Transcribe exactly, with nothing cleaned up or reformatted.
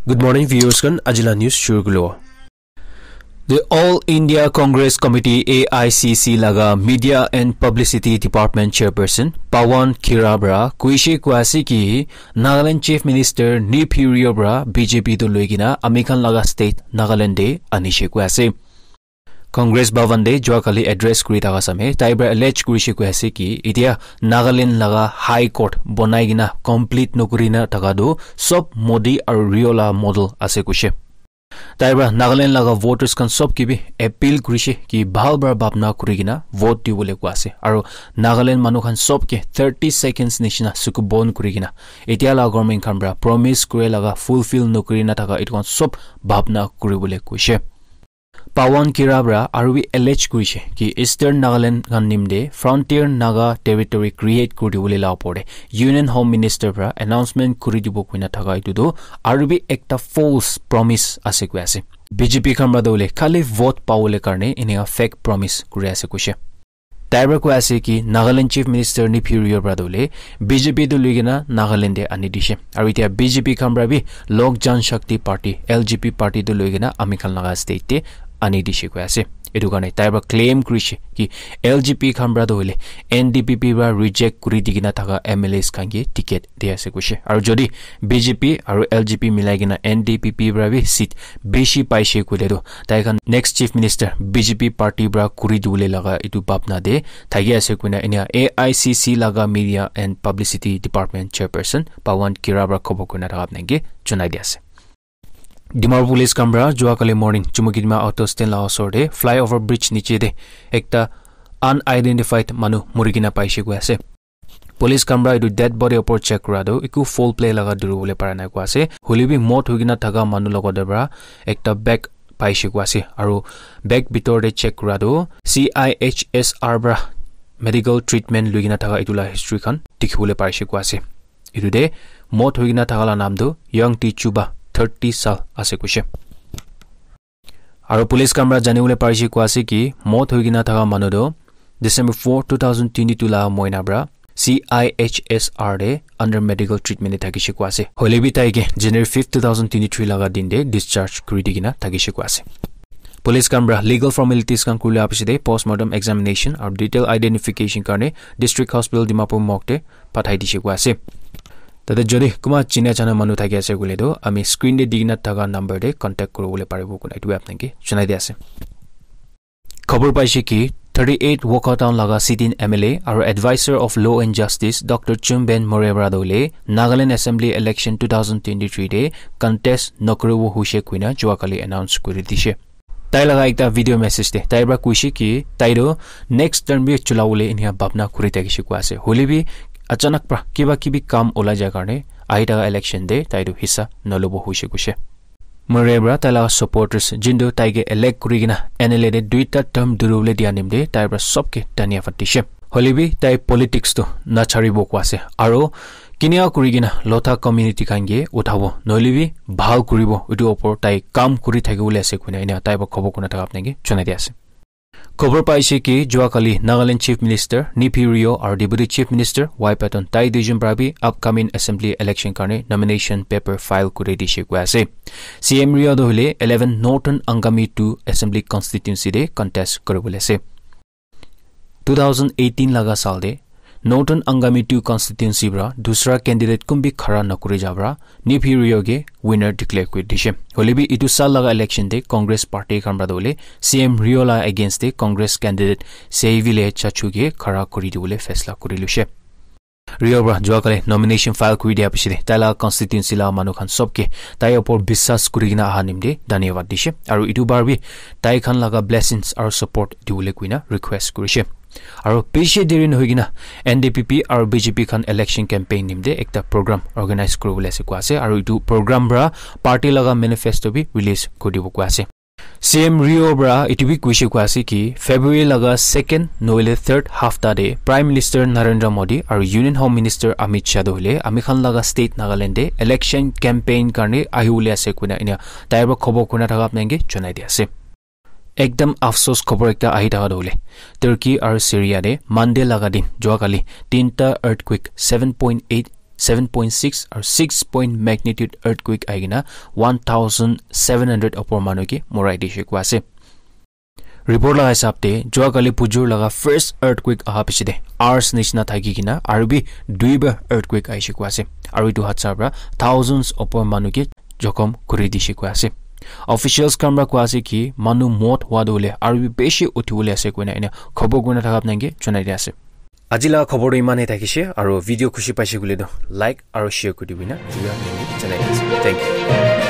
Good morning, viewers khan. Ajila news shuru kulo. The All India Congress Committee, A I C C, laga Media and Publicity Department Chairperson Pawan Khera para kuishe koi ase ki Nagaland Chief Minister Neiphiu Rio para B J P tu loigena ami khan laga state Nagaland de anishe koi ase. Congress Bhavan de jua kali address kuri thaka same tai para allege kurishe koi ase ki itia Nagaland laga High Court bonai gina complete nokuri na thaka tu sob Modi aru Rio la model ase kuishe. Tai para Nagaland laga voters khan sob ke bi appeal kurishe ki bhal para bhabna kuri kena vote dibole koi ase. Aru Nagaland manu khan sob ke thirty seconds nishina suku bon kuri kena etia la government khan para promise kure laga fulfill nokuri na thaka etu khan sob bhabna kuribole koishe. Pawan Khera para aru bi allege kurishe ki Eastern Nagaland khan nimde frontier Naga territory create kuri dibole la opor de Union Home Minister para announcement kuri dibo koina thaka etu tu aru bi ekta false promise ase koi ase. B J P khan para tu hoile khali vote pabole karne eneka fake promise kuri ase koishe. Tai para koi ase ki Nagaland Chief Minister Neiphiu Rio para tu hoile B J P tu loigena Nagaland de ani dishe. Aru itia B J P khan para bi Lok Janshakti Party, L J P party tu loigena ami khan laga state de ani dishe koi ase. Etu karne tai para claim kurishe ki L J P khan para tu hoile N D P P para reject kuri di kena thaka M L As khan ke ticket di ase koishe. Aru jodi B J P aru L J P milai kena N D P P para bi seat bishi paishe koile tu tai khan next Chief Minister B J P party para kuri dibole laga etu bhabna de thaki ase koina enia A I C C laga Media and Publicity Department Chairperson Pawan Khera para khobor kurina thaka apni ke janai di ase. Dimapur Police khan para jua kali morning Chumukedima auto stand la osor de flyover bridge niche de ekta unidentified manu muri kena paishe koi ase. Police khan para etu dead body opor check kura tu eku foul play laga duri bole para nai koi ase. Hoile bi mot hoi kena thaka manu logot de para ekta bag paishe koi ase. Aru bag bitor de check kura tu C I H S R para medical treatment lui kena thaka etu la history khan dikhi bole paishe koi ase. Etu de mot hoi kena thaka la naam tu Young Ti Chuba, thirty saal ase koishe. Aru police khan para jani bole parishe koi ase ki mot hoi kena thaka manu tu December four, two thousand twenty-two la moina para C I H S R de under medical treatment de thakishe koi ase. Hoile bi tai ke January fifth, two thousand twenty-three laga din de discharge kuri di kena thakishe koi ase. Police khan para legal formalities khan kuri la piche de postmortem examination aru detail identification karne District Hospital Dimapur morgue de pathai dishe koi ase. Tate jodi kunba china jana manu thaki ase koile tu ami screen de di kena thaka number de contact kuri bole paribo koi na etu apni ke janai di ase. Khobor paishe ki thirty-eight Wokha Town laga sit-in M L A aru Advisor of Law and Justice Doctor Chumben Murray para tu hoile Nagaland Assembly Election two thousand twenty-three de contest nokuribo hoishe koina jua kali announce kuri dishe. Tai laga ekta video message de tai para koishe ki tai tu next term bi chula bole enia bhabna kuri thakishe koi ase. Hoile bi achanak para kiba kibi kam ulai ja karne ahi thaka election de tai tu hissa nalobo hoishe koishe. Murray para tai laga supporters jintu tai ke elect kuri kena M L A de duita term duri bole dia nimde tai para sob ke dhanyavad dishe. Hoile bi tai politics tu nacharibo koi ase. Aru kinia kuri kena lotha community khan ke uthabo. Nohole bi bhal kuribo. Etu opor tai kam kuri thaki bole ase koina enia tai para khobor kurina thaka apni ke janai di ase. Khobor paishe ki jua kali Nagaland Chief Minister Neiphiu Rio aru Deputy Chief Minister Y Patton tai duijon para bi upcoming assembly election karne nomination paper file kuri dishe koi ase. C M Rio tu hoile eleven Northern Angami two Assembly Constituency de contest kuri bole ase. Two thousand eighteen laga saal de Northern Angami two constituency para dusra candidate kun bi khara nakuri ja para Neiphiu Rio ke winner declare kuri dishe. Hoile bi etu saal laga election de Congress party khan para tu hoile C M Rio la against de Congress candidate Seivile Chachu ke khara kuri dibole faisla kuri lushe. Rio para jua kali nomination file kuri dia piche de tai laga constituency laga manu khan sob ke tai opor biswas kuri kena aha nimde dhanyavad dishe. Aru etu bar bi tai khan laga blessings aru support dibole koina request kurishe. Aru bishi deri nohoi kena N D P P aru B J P khan election campaign nimde ekta program organize kuri bole ase koi ase. Aru etu program para party laga manifesto bi release kuri dibo koi ase. C M Rio para etu bi koishe koi ase ki February laga second nohole third hafta de Prime Minister Narendra Modi aru Union Home Minister Amit Shah tu hoile ami khan laga state Nagaland de election campaign karne ahi bole ase koina enia tai para khobor kurina thaka apni ke janai di ase. Ekdam afsos khobor ekta ahi thaka tu hoile Turkey aru Syria de Monday laga din jua kali tinta earthquake seven point eight seven point six aru six point magnitude earthquake ahi kena one thousand seven hundred opor manu ke morai dishe koi ase. Report laga hisab te, jua kali pujur laga first earthquake aha piche te, ours nishina thaki kena, aru bi dui bar earthquake ahishe koi ase. Aru etu hatsar pra thousands opor manu ke jokhom kuri dishe koi ase. Officials khan pra koi ase ki, manu mot hua tu hoile, aru bi beshi uthi bole ase koina ena khobor kurina thaka apni khan ke janai di ase. Aji laga khobor tu iman he thakishe, aru video khushi paishe koile tu like aru share kuri dibi na, etu janai di ase. Thank you.